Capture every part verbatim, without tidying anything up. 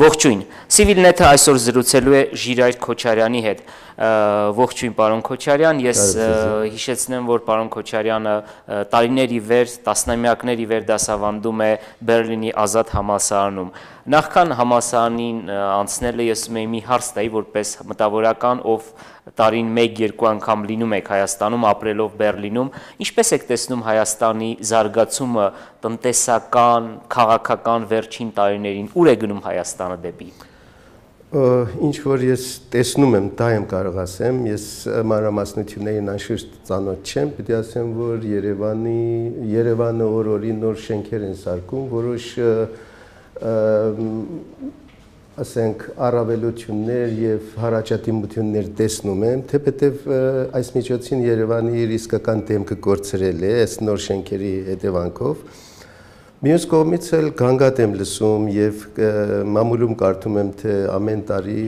Ողջույն, Civilnet-ը այսօր զրուցելու է Ժիրայր Քոչարյանի հետ, ողջույն պարոն Քոչարյան, ես հիշեցնեմ, որ պարոն Քոչարյանը տարիների վեր, տասնամյակների վեր դասավանդում է Բերլինի ազատ համալսարանում, նախքան համալսարանին անցնելը ես ուզում եի մի հարց տայի, որպես մտավորական, ով տարին մեկ-երկու անգամ լինում եք Հայաստանում, ապրելով Բերլինում, ինչպես եք տեսնում Հայաստանի զարգացումը տնտեսական, քաղաքական վերջին տարիներին, ուր է գնում Հայաստանը դեպի։ Ինչ որ ես տեսնում եմ, դա եմ կարող ասեմ, ես մանրամասնություններին անշուշտ ծանոթ չեմ, պետք է ասեմ, որ Երևանի, Երևանը օր-օրի նոր շենքեր են սարքում, որոշ ասենք առավելություններ եւ հարաճատիմություններ տեսնում եմ, թեպետև այս միջոցին Երևանի ռիսկական դեմքը կորցրել է այս նոր շենքերի հետևանքով։ Մյուս կողմից էլ գանգատ եմ լսում եւ մամուլում կարդում եմ, թե ամեն տարի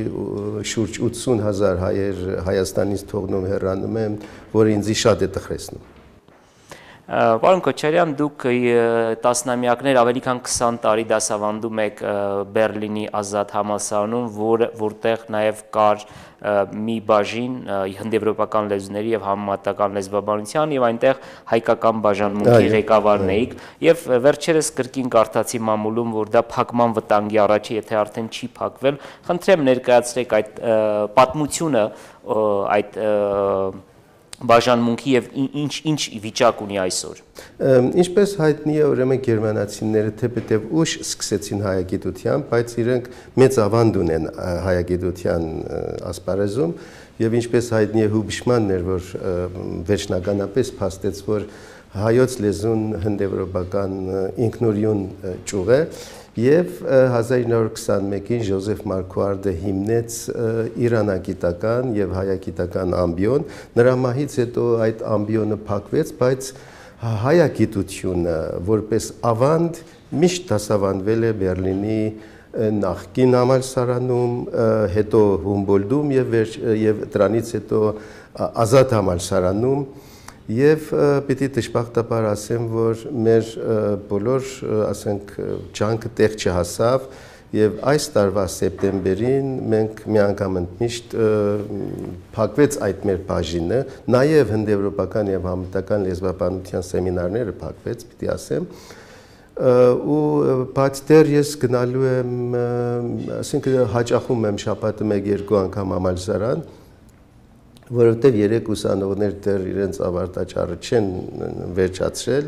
շուրջ ութսուն հազար հայեր Հայաստանից թողնում հեռանում են, որը ինձ շատ է տխրեցնում։ Պարոն Քոչարյան, դուք տասնամյակներ, ավելի քան քսան տարի դասավանդում եք Բերլինի ազատ համալսարանում, որտեղ նաև կար մի բաժին հնդեվրոպական լեզուների եւ համեմատական լեզվաբանության եւ այնտեղ հայկական բաժանմունքի ղեկավարն էիք եւ վերջերս կրկին կարդացի մամուլում, որ դա փակման վտանգի առաջ է, եթե արդեն չի փակվել, խնդրեմ ներկայացրեք այդ պատմությունը, այդ բաժանմունքի եւ ինչ ինչ վիճակ ունի այսօր։ Ինչպես հայտնի է, ուրեմն գերմանացիները թեպետև ուշ սկսեցին հայագիտության, բայց իրենք մեծ ավանդ ունեն հայագիտության ասպարեզում եւ ինչպես հայտնի է Հուբշմանն էր, որ վերջնականապես փաստեց, որ հայոց լեզուն հնդեվրոպական ինքնուրույն ճյուղ է եւ հազար ինը հարյուր քսանմեկին Ժոզեֆ Մարկուարդը հիմնեց իրանագիտական եւ հայագիտական ամբիոն, նրա մահից հետո այդ ամբիոնը փակվեց, բայց հայագիտությունը որպես ավանդ միշտ դասավանդվել է Բերլինի նախկին համալսարանում, հետո Հումբոլդտում եւ եւ դրանից հետո ազատ համալսարանում Եվ պիտի դժբախտաբար ասեմ, որ մեր բոլոր, ասենք, ջանքը տեղ չհասավ եւ այս տարվա սեպտեմբերին մենք միանգամ ընդմիշտ փակվեց այդ մեր բաժինը, նաեւ հնդեվրոպական եւ համատական լեզվաբանության սեմինարները փակվեց, պիտի ասեմ, ու բայց դեռ ես գնալու եմ, ասենք, հաճախում եմ շաբաթը մեկ-երկու անգամ համալսարան, որովհետև երեք ուսանողներ դեռ իրենց ավարտաճառը չեն վերջացրել,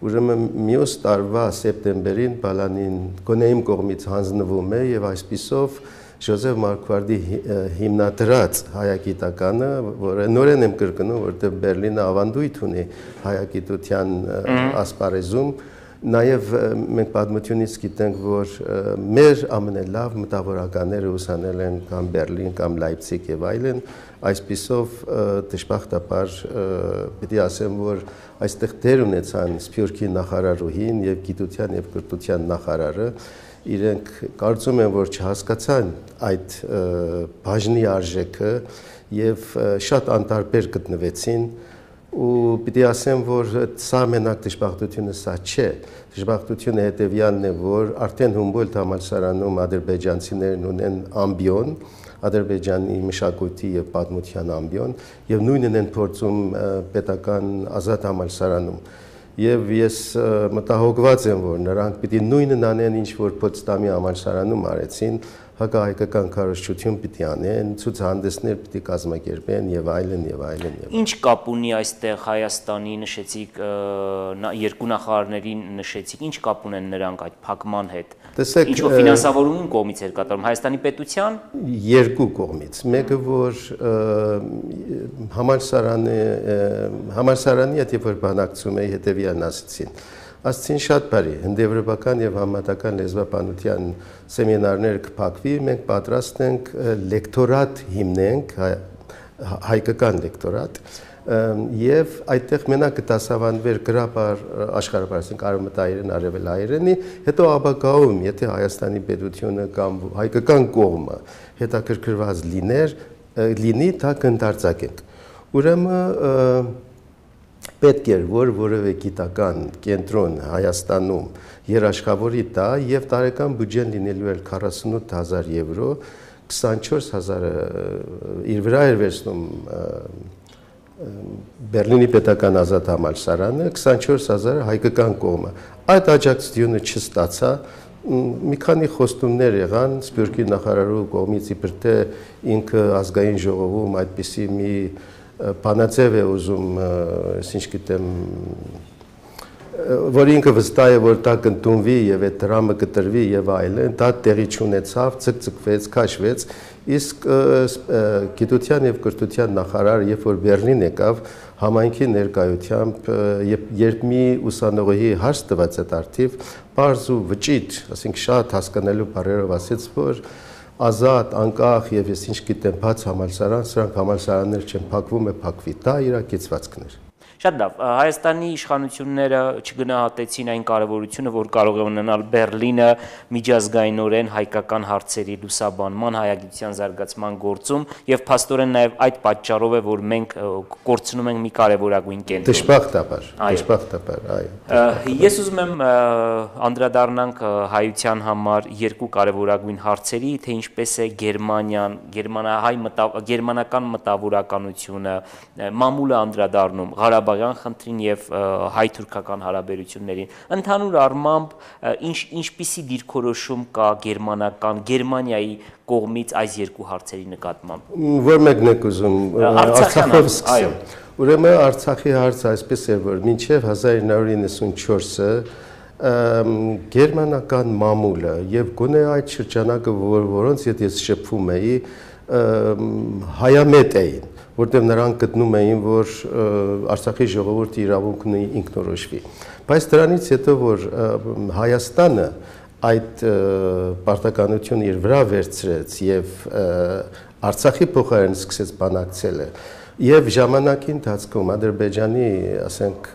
ուրեմն մյուս տարվա սեպտեմբերին բալանին գոնե իմ կողմից հանձնվում է եւ այսպիսով Ժոզեֆ Մարկուարդի հիմնադրած հայագիտականը, որը նորեն եմ կրկնում, որովհետև Բերլինը ավանդույթ ունի հայագիտության ասպարեզում, Նաև մենք պատմությունից գիտենք, որ մեր ամենալավ մտավորականները ուսանել են կամ Բերլին, կամ Լայպցիգ եւ այլն, այսպիսով դժբախտաբար պիտի ասեմ, որ այստեղ դեր ունեցան Սփյուռքի նախարարուհին եւ գիտության եւ կրթության նախարարը, իրենք կարծում են, որ չհասկացան այդ բաժնի արժեքը եւ շատ անտարբեր գտնվեցին ու պիտի ասեմ, որ սա մենակ դժբախտությունը սա չէ, դժբախտությունը հետևյալն է, որ արդեն Հումբոլդտ համալսարանում ադրբեջանցիներն ունեն ամբիոն, Ադրբեջանի մշակույթի եւ պատմության ամբիոն եւ նույնն են փորձում պետական ազատ համալսարանում եւ ես մտահոգված եմ, որ նրանք պիտի նույնն անեն, ինչ որ Պոտսդամի համալսարանում արեցին, հակահայկական քարոզչություն պիտի անեն, ցուցահանդեսներ պիտի կազմակերպեն եւ այլն եւ այլն եւ Ինչ կապ ունի այստեղ Հայաստանի նշեցիք երկու նախարարներին նշեցիք, ինչ կապ ունեն նրանք այդ փակման հետ։ Տեսեք, ինչ որ ֆինանսավորումն կողմից էր կատարում Հայաստանի պետության երկու կողմից։ Մեկը որ համալսարանը համալսարանի հետ երբ որ բանակցում էի հետեւյալն ասեցին։ Ասցին շատ բարի, հնդեվրոպական եւ համատական լեզվաբանության սեմինարները կփակվի, մենք պատրաստ ենք լեկտորատ հիմնենք, հայկական լեկտորատ, եւ այդտեղ մենակ կդասավանդվեր գրաբար աշխարհապարային արևմտահայերեն, արևելահայերենի, հետո ապագայում, եթե Հայաստանի պետությունը կամ հայկական կողմը հետաքրքրված լիներ, լինի, դա կընդարձակենք։ Ուրեմն պետք էր որ որևէ գիտական կենտրոն Հայաստանում երաշխավորի տա եւ տարեկան բյուջեն լինելու էր քառասունութ հազար եվրո, քսանչորս հազարը իր վրա էր վերցնում Բերլինի պետական ազատ համալսարանը, քսանչորս հազարը հայկական կողմը։ Այդ աջակցությունը չստացա, մի քանի խոստումներ եղան Սփյուռքի նախարարու կողմից, իբր թե ինքը ազգային ժողովում այդպիսի մի բանաձև է ուզում, ինչ գիտեմ, որ ինքը վստահ է, որ դա կընդունվի եւ այդ դրամը կտրվի եւ այլն, դա տեղի չունեցավ, ցկցկվեց, քաշվեց, իսկ գիտության եւ կրթության նախարար, երբ որ Բերլին եկավ, համայնքի ներկայությամբ, երբ մի ուսանողի հարց տված այդ արդիվ, բարձ ու վճիտ, ասենք շատ հասկանալու բառերով ասեց, որ ազատ, անկախ եւ ես ինչ գիտեմ, բաց համալսարան, սրանք համալսարաններ չեն, փակվում է, փակվի, դա իր կեցվածքներ։ Շատ լավ, Հայաստանի իշխանությունները չգնահատեցին այն կարևորությունը, որ կարող է ունենալ Բերլինը միջազգայինորեն հայկական հարցերի լուսաբանման, հայագիտության զարգացման գործում եւ փաստորեն նաեւ այդ պատճառով է, որ մենք կորցնում ենք մի կարևորագույն կենտրոն։ Դժբախտաբար, դժբախտաբար, այո։ Ես ուզում եմ անդրադառնանք հայության համար երկու կարևորագույն հարցերի, թե ինչպես է Գերմանիան, գերմանահայ գերմանական մտավորականությունը, մամուլը անդրադառնում Ղարաբաղ խնդրին եւ հայ-թուրքական հարաբերություններին ընդհանուր առմամբ ինչ ինչպիսի դիրքորոշում կա գերմանական Գերմանիայի կողմից այս երկու հարցերի նկատմամբ որ մեկն եք ուզում Արցախով սկսեմ ուրեմն Արցախի հարցը այսպես է որ մինչեւ հազար ինը հարյուր իննսունչորսը գերմանական մամուլը եւ գոնե այդ շրջանակը որ որոնց հետ ես շփվում էի հայամետ էին որտեղ նրանք գտնում էին, որ Արցախի ժողովուրդը իրավունք ունի ինքնորոշվի։ Բայց դրանից հետո որ Հայաստանը այդ պարտականությունը իր վրա վերցրեց եւ Արցախի փոխարեն սկսեց բանակցելը եւ ժամանակի ընթացքում Ադրբեջանի, ասենք,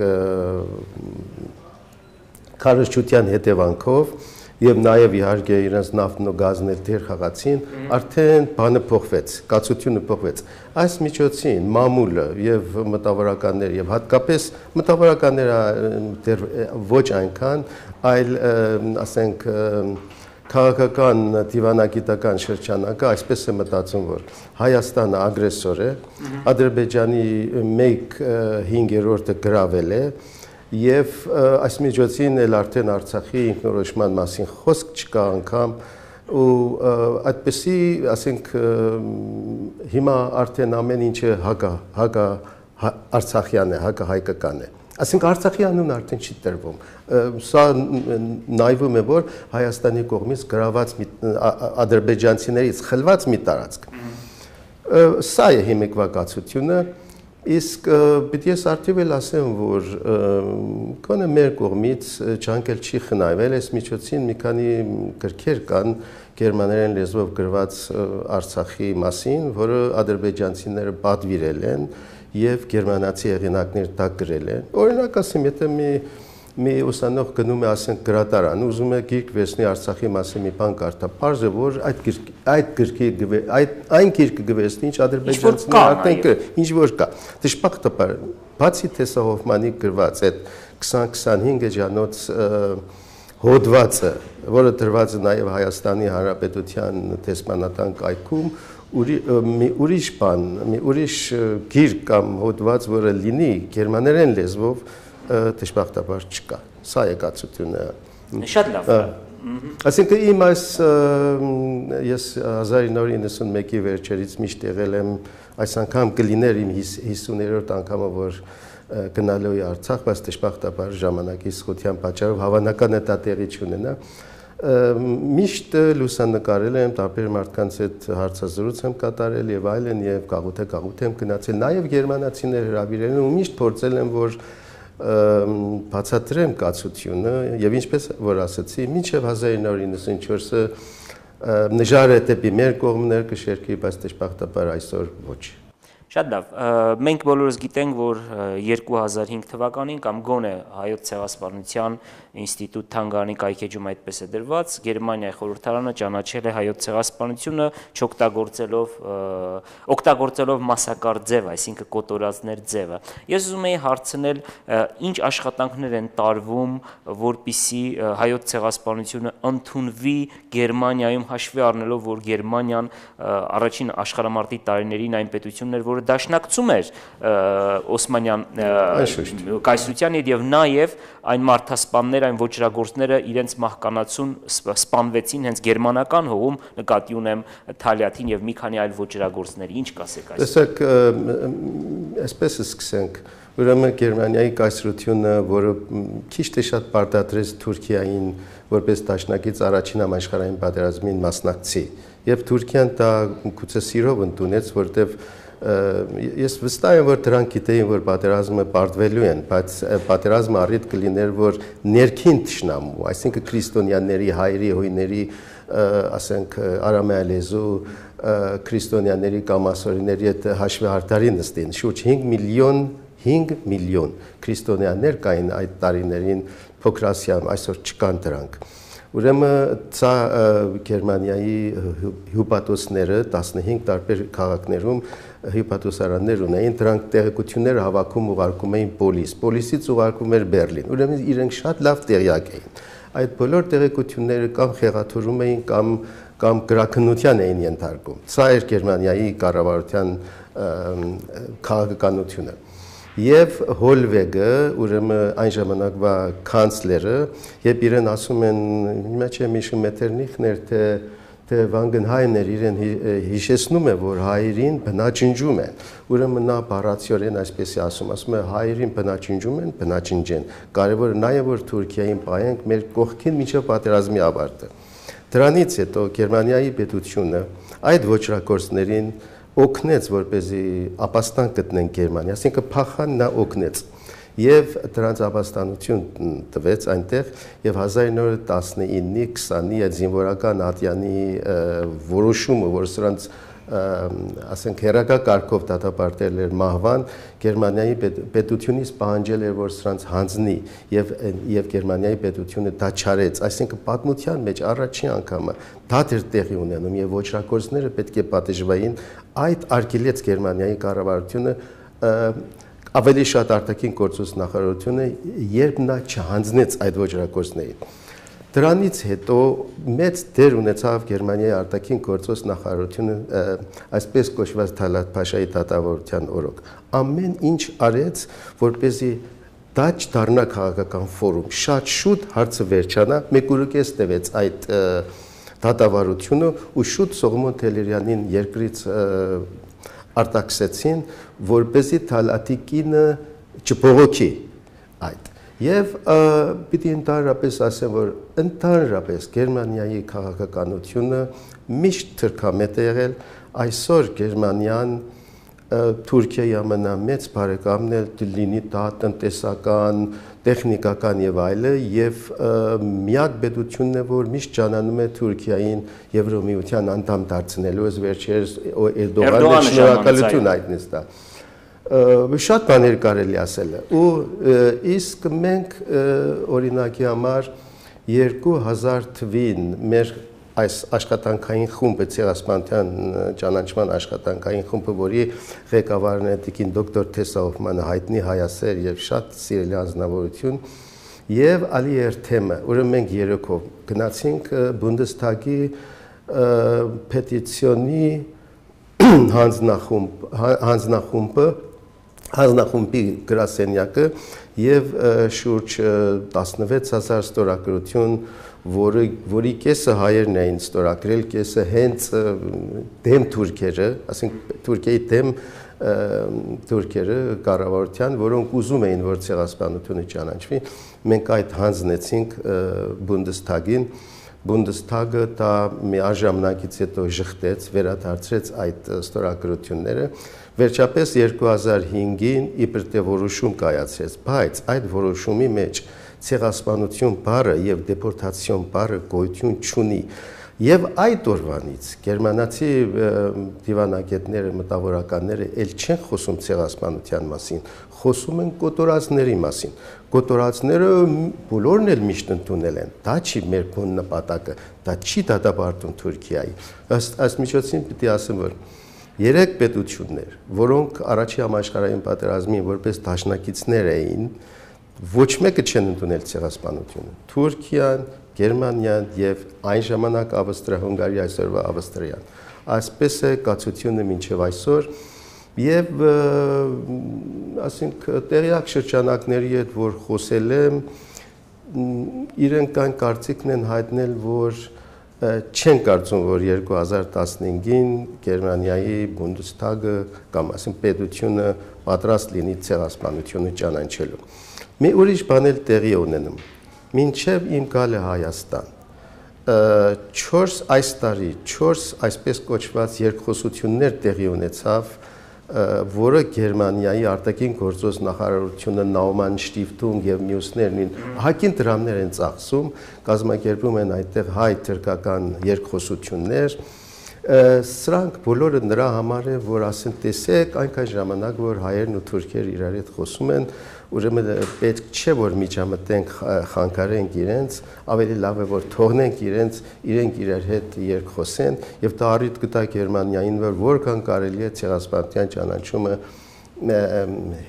քարոզչության հետևանքով եւ նաեւ իհարկե իրենց նավթն ու գազն էլ դեր խաղացին, արդեն բանը փոխվեց, կացությունը փոխվեց։ Այս միջոցին մամուլը եւ մտավորականներ եւ հատկապես մտավորականները դեռ ոչ այնքան, այլ ասենք քաղաքական դիվանագիտական շրջանակը այսպես է մտածում, որ Հայաստանը ագրեսոր է, Ադրբեջանի մեկ հինգերորդը գրավել է Եվ այս միջոցին էլ արդեն Արցախի ինքնորոշման մասին խոսք չկա անգամ ու այդպեսի, ասենք, հիմա արդեն ամեն ինչը հակա հակա արցախյան է, հակա հայկական է։ Ասենք Արցախի անունը արդեն չի տրվում։ Սա նայվում է, որ Հայաստանի կողմից գրաված ադրբեջանցիներից խլված մի տարածք։ Սա է հիմիկվա կացությունը Իսկ պիտի ես արդիվել ասեմ, որ կոնե մեր կողմից չանկել չի խնայվել, այս միջոցին մի քանի գրքեր կան գերմաներեն լեզվով գրված Արցախի մասին, որը ադրբեջանցիները պատվիրել են եւ գերմանացի հեղինակներ դա գրել են։ Օրինակ ասեմ, եթե մի մի ուսանող գնում է ասենք գրատարան, ուզում է գիրք վերցնի Արցախի մասին մի բան կարդա, պարզ է որ այդ գիրք այդ գրքի այդ այն գիրքը գվեցնի, ինչ ադրբեջանցիները արդեն կրել, ինչ որ կա։ Դժբախտաբար, բացի Թեսա Հոֆմանի գրված այդ քսան քսանհինգ էջանոց հոդվածը, որը դրված է նաև Հայաստանի Հանրապետության տեսմանատան կայքում, մի ուրիշ բան, մի ուրիշ գիրք կամ հոդված, որը լինի գերմաներեն լեզվով դժբախտաբար չկա։ Սա է կացությունը։ Շատ լավ։ Այսինքն իմ այս ես հազար ինը հարյուր իննսունմեկի վերջերից միշտ եղել եմ, այս անգամ կլիներ իմ հիսուներորդ անգամը, որ գնալու է Արցախ, բայց դժբախտաբար ժամանակի սխության պատճառով հավանական է դա տեղի չունենա։ Միշտ լուսանկարել եմ, տարբեր մարդկանց հետ հարցազրույց եմ կատարել եւ այլն եւ գաղութ է գաղութ եմ գնացել, նաեւ գերմանացիներ հրավիրել են ու միշտ փորձել եմ, որ բացատրեմ կացությունը եւ ինչպես որ ասացի, մինչեւ հազար ինը հարյուր իննսունչորսը նժարը դեպի մեր կողմներ կշերքի, բայց դժբախտաբար այսօր ոչ։ Շատ լավ, մենք բոլորս գիտենք, որ երկու հազար հինգ թվականին կամ գոնե հայոց ցեղասպանության ինստիտուտ թանգարանի կայքեջում այդպես է դրված, Գերմանիայի խորհրդարանը ճանաչել է հայոց ցեղասպանությունը չօգտագործելով օգտագործելով մասակարդ ձև, այսինքն կոտորածներ ձևը։ Ես ուզում եի հարցնել, ինչ աշխատանքներ են տարվում, որպիսի հայոց ցեղասպանությունը ընդունվի Գերմանիայում, հաշվի առնելով, որ Գերմանիան առաջին աշխարհամարտի տարիներին այն պետությունն էր, որը դաշնակցում էր Օսմանյան կայսրության եւ նաեւ այն մարդասպաններ, այն ոչրագործները իրենց մահկանացուն սպանվեցին հենց գերմանական հողում, նկատի ունեմ Թալյաթին եւ մի քանի այլ ոչրագործների։ Ինչ կասեք այս։ Տեսեք, այսպես սկսենք, ուրեմն Գերմանիայի կայսրությունը, որը քիչ թե շատ պարտադրեց Թուրքիային որպես դաշնակից առաջին համաշխարհային պատերազմին մասնակցի, եւ Թուրքիան դա գուցե սիրով ընդունեց, որտեվ ես վստահ եմ, որ դրանք գիտեին, որ պատերազմը պարտվելու են, բայց պատերազմը առիթ կլիներ, որ ներքին թշնամու, այսինքն քրիստոնյաների, հայերի, հույների, ասենք արամեալեզու քրիստոնյաների կամ ասորիների հետ հաշվի հարթարի նստին, շուրջ հինգ միլիոն հինգ միլիոն քրիստոնյաներ կային այդ տարիներին Փոքրասիայում, այսօր չկան դրանք։ Ուրեմն ցա Գերմանիայի հյուպատոսները տասնհինգ տարբեր քաղաքներում հյուպատոսարաններ ունեին, դրանք տեղեկությունները հավաքում ուղարկում էին պոլիս, պոլիսից ուղարկում էր Բերլին, ուրեմն իրենք շատ լավ տեղյակ էին։ Այդ բոլոր տեղեկությունները կամ խեղաթյուրում էին կամ կամ գրաքննության էին ենթարկում։ Սա էր Գերմանիայի կառավարության քաղաքականությունը։ Եվ Հոլվեգը, ուրեմն այն ժամանակվա կանցլերը, երբ իրեն ասում են, մեջ եմ հիշում Մեթերնիխներ, թե թե Վանգենհայմներ իրեն հիշեցնում է, որ հայերին բնաջնջում են, ուրեմն նա բառացիորեն այսպես է ասում, ասում է հայերին բնաջնջում են, բնաջնջեն, կարևորը նա է, որ Թուրքիային պահենք մեր կողքին մինչև պատերազմի ավարտը։ Դրանից հետո Գերմանիայի պետությունը այդ ոչրագործներին օգնեց, որպեսզի ապաստան գտնեն Գերմանիա, այսինքն փախան նա օգնեց եւ դրանց ապաստանություն տվեց այնտեղ եւ հազար ինը հարյուր տասնինը քսանի այդ զինվորական ատյանի որոշումը, որ սրանց ասենք հերակա կարգով դատապարտել էր մահվան, Գերմանիայի պետությունից պահանջել էր, որ սրանց հանձնի եւ եւ Գերմանիայի պետությունը դա չարեց, այսինքն պատմության մեջ առաջին անգամը դա դեր տեղի ունենում եւ ոչրագործները պետք է պատժվային, այդ արգելեց Գերմանիայի կառավարությունը ավելի շատ արտաքին գործոս նախարարությունը, երբ նա չհանձնեց այդ ոչրագործներին։ Դրանից հետո մեծ դեր ունեցավ Գերմանիայի արտաքին գործոս նախարարությունը, այսպես կոչված Թալատ Փաշայի դատավորության օրոք։ Ամեն ինչ արեց, որպեսզի դա չդառնա քաղաքական ֆորում։ Շատ շուտ հարցը վերջանա, մեկ ուր կես տևեց այդ դատավարությունը ու շուտ Սողոմոն Թելերյանին երկրից արտաքսեցին, որպեսզի Թալատի կինը չբողոքի այդ։ Եվ պիտի ընդհանրապես ասեմ, որ ընդհանրապես Գերմանիայի քաղաքականությունը միշտ թրքամետ է եղել, այսօր Գերմանիան Թուրքիայի ամենամեծ բարեկամն է, լինի դա տնտեսական, տեխնիկական եւ այլը, եւ միակ պետությունն է, որ միշտ ճանաչում է Թուրքիային Եվրոմիության անդամ դարձնելու, ըստ վերջերս Էրդողանը շնորհակալություն հայտնեց դա։ Շատ բաներ կարելի ասել է ու իսկ մենք օրինակի համար երկու հազար թվին մեր այս աշխատանքային խումբը ցեղասպանության ճանաչման աշխատանքային խումբը, որի ղեկավարն է տիկին դոկտոր Թեսա Հոֆմանը, հայտնի հայասեր եւ շատ սիրելի անձնավորություն, եւ Ալի Էրթեմը, ուրեմն մենք երեքով գնացինք Բունդեսթագի պետիցիոնի հանձնախումբ հանձնախումբը հանձնախումբի գրասենյակը եւ շուրջ տասնվեց հազար ստորագրություն, որը որի կեսը հայերն էին ստորագրել, կեսը հենց դեմ թուրքերը, ասենք Թուրքիայի դեմ թուրքերը կառավարության, որոնք ուզում էին, որ ցեղասպանությունը ճանաչվի, մենք այդ հանձնեցինք Բունդեսթագին, Բունդեսթագը դա մի ժամանակից հետո ժխտեց, վերադարձրեց այդ ստորագրությունները, վերջապես երկու հազար հինգին իբր թե որոշում կայացրեց, բայց այդ որոշումի մեջ ցեղասպանություն բառը եւ դեպորտացիոն բառը գոյություն չունի։ Եվ այդ օրվանից գերմանացի դիվանագետները, մտավորականները ել չեն խոսում ցեղասպանության մասին, խոսում են կոտորածների մասին։ Կոտորածները բոլորն էլ միշտ ընդունել են։ Դա չի մեր բուն նպատակը, դա չի դատապարտում Թուրքիայի։ Ըստ այս միջոցին պիտի ասեմ, որ երեք պետություններ, որոնք առաջի համաշխարհային պատերազմին որպես դաշնակիցներ էին, ոչ մեկը չեն ընդունել ցեղասպանությունը։ Թուրքիան, Գերմանիան եւ այն ժամանակ Ավստրիա-Հունգարիա, այսօրվա Ավստրիան։ Այսպես է կացությունը մինչև այսօր եւ ասենք տեղյակ շրջանակների հետ որ խոսել եմ, իրենք այն կարծիքն են հայտնել, որ չեն կարծում, որ երկու հազար տասնհինգին Գերմանիայի Բունդեսթագը կամ ասենք պետությունը պատրաստ լինի ցեղասպանությունը ճանաչելու։ Մի ուրիշ բան էլ տեղի ունենում։ Մինչև իմ գալը Հայաստան չորս այս տարի չորս այսպես կոչված երկխոսություններ տեղի ունեցավ, որը Գերմանիայի արտաքին գործոս նախարարությունը Նաուման Շտիֆտունգ եւ մյուսներն հակին դրամներ են ծախսում, կազմակերպում են այդտեղ հայ-թուրքական երկխոսություններ, սրանք բոլորը նրա համար է, որ ասեն տեսեք այնքան ժամանակ, որ հայերն ու թուրքերը իրար հետ խոսում են, ուրեմն պետք չէ որ միջամտենք խանգարենք իրենց, ավելի լավ է որ թողնենք իրենց, իրենք իրար հետ երկխոսեն եւ դա առիթ կտա Գերմանիային, որ որքան կարելի է ցեղասպանության ճանաչումը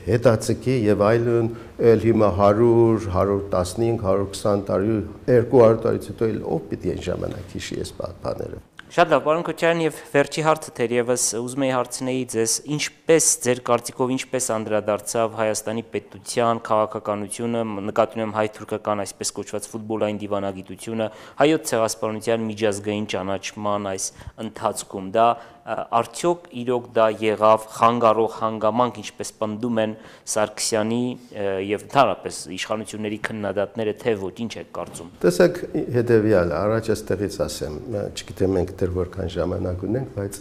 հետաձգի եւ այլն, ել հիմա հարյուր, հարյուր տասնհինգ, հարյուր քսան տարի, երկու հարյուր տարից հետո էլ ով պիտի այն ժամանակ հիշի այս բաները։ Շատ լավ, պարոն Քոչարյան, եւ վերջի հարցը թերևս ուզում եի հարցնեի ձեզ, ինչպես ձեր կարծիքով ինչպես անդրադարձավ Հայաստանի պետության քաղաքականությունը, նկատի ունեմ հայ-թուրքական այսպես կոչված ֆուտբոլային դիվանագիտությունը, հայոց ցեղասպանության միջազգային ճանաչման այս ընթացքում, դա արդյոք իրոք դա եղավ խանգարող հանգամանք, ինչպես պնդում են Սարգսյանի եւ ընդհանրապես իշխանությունների քննադատները, թե ոչ, ինչ եք կարծում։ Տեսեք, հետեւյալը, առաջ այստեղից ասեմ, չգիտեմ մենք դեռ որքան ժամանակ ունենք, բայց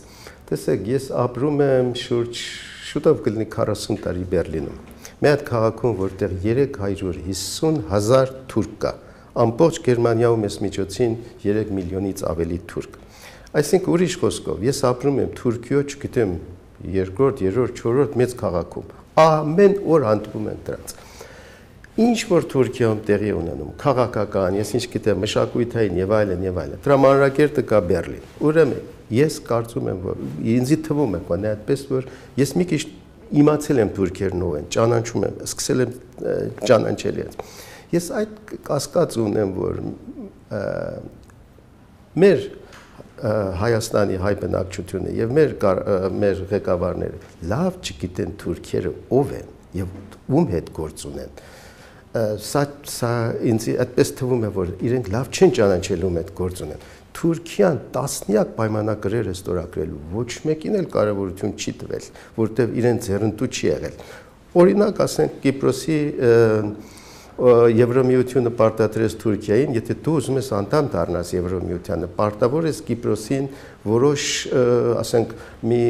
տեսեք, ես ապրում եմ շուրջ շուտով կլինի քառասուն տարի Բերլինում։ Մի հատ քաղաքում, որտեղ երեք հարյուր հիսուն հազար թուրք կա, ամբողջ Գերմանիայում ես միջոցին երեք միլիոնից ավելի թուրք։ Այսինքն ուրիշ խոսքով, ես ապրում եմ Թուրքիո, չգիտեմ, երկրորդ, երրորդ, չորրորդ մեծ քաղաքում։ Ամեն օր հանդիպում են դրանց։ Ինչ որ Թուրքիայում տեղի ունենում, քաղաքական, ես ինչ գիտեմ, մշակութային եւ այլն եւ այլն։ Դրա մանրակերտը կա Բերլին։ Ուրեմն ես կարծում եմ, որ ինձի թվում է, բանը այդպես որ ես մի քիչ իմացել եմ թուրքերն ով են, ճանաչում եմ, սկսել եմ ճանաչել իրենց։ Ես այդ կասկած ունեմ, որ մեր Հայաստանի հայ բնակչությունը եւ մեր մեր ղեկավարները լավ չգիտեն թուրքերը ով են եւ ում հետ գործ ունեն։ Սա սա ինձ այդպես թվում է, որ իրենք լավ չեն ճանաչել ում հետ գործ ունեն։ Թուրքիան տասնյակ պայմանագրեր է ստորագրելու, ոչ մեկին էլ կարևորություն չի տվել, որտեղ իրեն ձեռնտու չի եղել։ Օրինակ, ասենք Կիպրոսի Եվրոմիությունը պարտադրեց Թուրքիային, եթե դու ուզում ես անդամ դառնաս Եվրոմիությանը, պարտավոր ես Կիպրոսին որոշ, ասենք, մի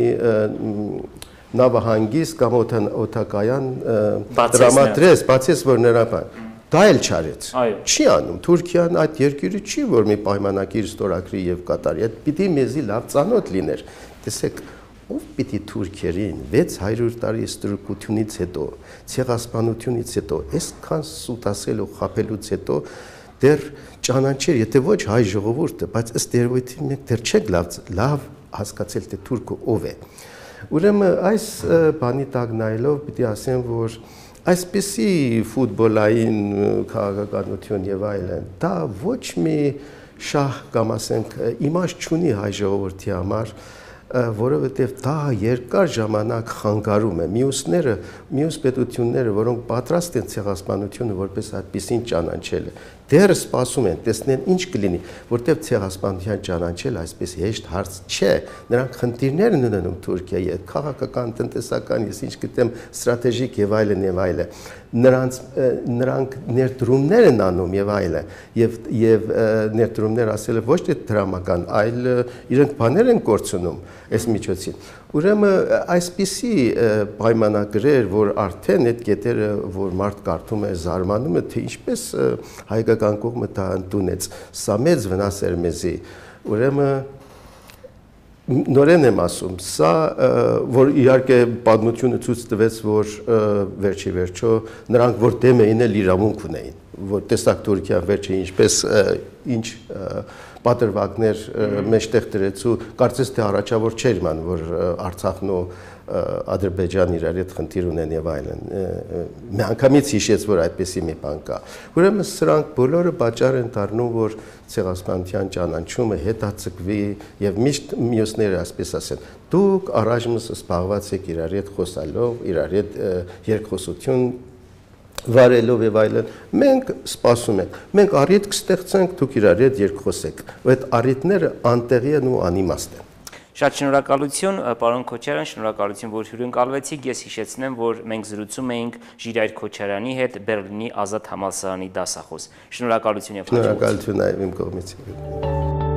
նավահանգիստ կամ օդակայան տրամադրես, բացես, որ նրա բան։ Դա էլ չարեց։ Չի անում։ Թուրքիան այդ երկիրը չի, որ մի պայմանագիր ստորագրի եւ կատարի։ Այդ պիտի մեզի լավ ծանոթ լիներ։ Տեսեք, ով պիտի թուրքերին վեց հարյուր տարի ստրուկությունից հետո, ցեղասպանությունից հետո, այսքան սուտասել ու խաբելուց հետո դեռ ճանաչեր, եթե ոչ հայ ժողովուրդը, բայց ըստ երևույթին մենք դեռ չենք լավ լավ հասկացել, թե թուրքը ով է։ Ուրեմն այս բանի տակ նայելով պիտի ասեմ, որ այսպիսի ֆուտբոլային քաղաքականություն եւ այլն, դա ոչ մի շահ կամ ասենք իմաստ չունի հայ ժողովրդի համար, որովհետև դա երկար ժամանակ խանգարում է մյուսները, մյուս պետությունները, որոնք պատրաստ են ցեղասպանությունը որպես այդպիսին ճանաչելը, դեռ սպասում են, տեսնեն ինչ կլինի, որտեղ ցեղասպանության ճանաչել այսպես հեշտ հարց չէ, նրանք խնդիրներ են ունենում Թուրքիայի հետ, քաղաքական, տնտեսական, ես ինչ գիտեմ, ստրատեգիկ եւ այլն եւ այլն, նրանց նրանք ներդրումներ են անում եւ այլն, եւ եւ ներդրումներ ասելը ոչ թե դրամական, այլ իրենք բաներ են կորցնում այս միջոցին։ Ուրեմն այսպիսի պայմանագրեր, որ արդեն այդ կետերը, որ մարդ կարդում է, զարմանում է, թե ինչպես հայկական կողմը դա ընդունեց, սա մեծ վնաս էր մեզի, Ուրեմն նորեն եմ ասում, սա որ իհարկե պատմությունը ցույց տվեց, որ վերջի վերջո նրանք որ դեմ էին էլ իրավունք ունեին, որ տեսակ Թուրքիան վերջը ինչպես ինչ պատրվակներ մեջտեղ դրեց ու կարծես թե առաջավոր չէր ման, որ Արցախն ու Ադրբեջան իրար հետ խնդիր ունեն եւ այլն։ Միանգամից հիշեց, որ այդպեսի մի բան կա։ Ուրեմն սրանք բոլորը պատճառ են դառնում, որ Ցեղասպանության ճանաչումը հետաձգվի եւ միշտ մյուսները ասպես ասեն. դուք առայժմ զբաղված եք իրար հետ խոսալով, իրար հետ երկխոսություն վարելով եւ այլն։ Մենք սպասում ենք։ Մենք առիթ կստեղծենք, դուք իրար հետ երկխոսեք։ Այդ առիթները անտեղի են ու անիմաստ են։ Շատ շնորհակալություն, պարոն Քոչարյան, շնորհակալություն, որ հյուրընկալվեցիք։ Ես հիշեցնեմ, որ մենք զրուցում էինք Ժիրայր Քոչարյանի հետ, Բերլինի Ազատ համալսարանի դասախոս։ Շնորհակալություն եւ հաջողություն։ Շնորհակալություն այո իմ կողմից։